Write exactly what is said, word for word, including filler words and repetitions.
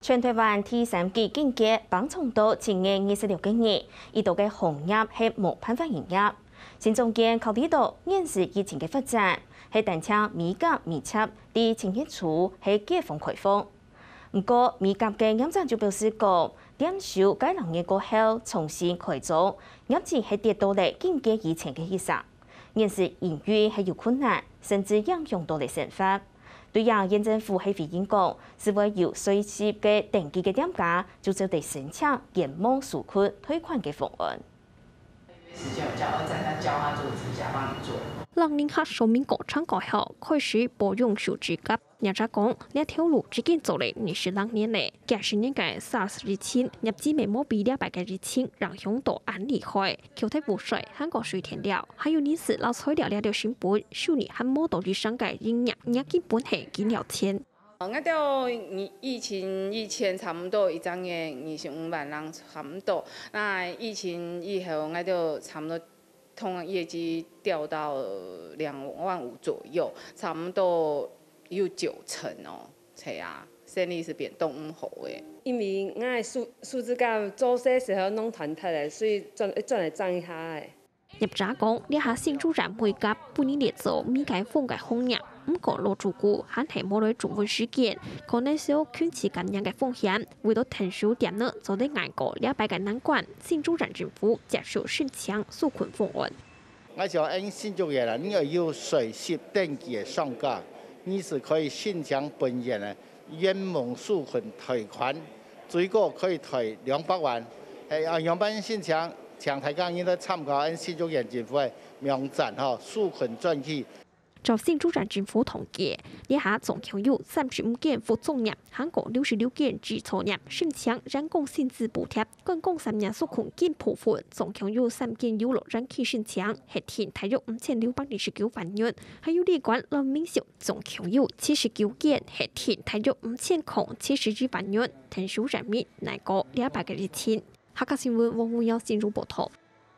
全台灣第三級警戒放長到七月二十六个日，已多个行業係無辦法營業。新總監考慮到現時疫情个發展，係單淨美甲美甲在七月初係解封開放。毋過，美甲个業者就表示講，店收該兩月過後重新開張，業績係跌到了警戒以前个一成。 現時營運係有困難，甚至影響到了生活。對這縣政府係回應講，係會有隨時个登記个店家，就做得申請延望紓困貸款个方案。時間有交，再再教他做指甲，幫你做。讓人客說明過程過後，開始保養手指甲。 業者講，這條路已經做了二十六年了，幾十年个SARS疫情，業績乜無比這擺个疫情影響到恁厲害。扣忒污水、還過水電了，還有人事摎材料這兜成本，收入還無到以上个營業額根本係緊了錢。𠊎兜疫情以前差不多一隻月二十五萬人差不多，該疫情以後，𠊎兜差不多 通常業績掉到兩萬五左右，差不多有九成哦。係啊，生理係變當毋好个。因為𠊎个手，手指甲做事時候弄斷忒了，所以轉，轉來整一下个。業者講，這下新竹縣美甲分人列做未解封个行業，毋過老主顧還係無來轉換時間，可能少近期感染个風險。為到𢯭手店呢做得挨過這擺个難關，新竹縣政府接受申請紓困方案。 𠊎想，𫣆新竹縣啊，你愛有隨時登記个商家，你係可以申請本縣个延望紓困貸款，最高可以貸兩百萬。係啊，仰般申請，請大家你來參考𫣆新竹縣政府个網站吼，紓困專區。照新竹縣政府統計，這下總共有三十五間服裝業，還過六十六間製造業申請員工薪資補貼。 觀光產業紓困金部分，總共有三間遊樂園去申請，核定大約五千六百二十九萬元，還有旅館摎民宿，總共有七十九間，核定大約五千空七十一萬元，𢯭手人民挨過這擺个疫情。客家新聞黃文耀新竹報導。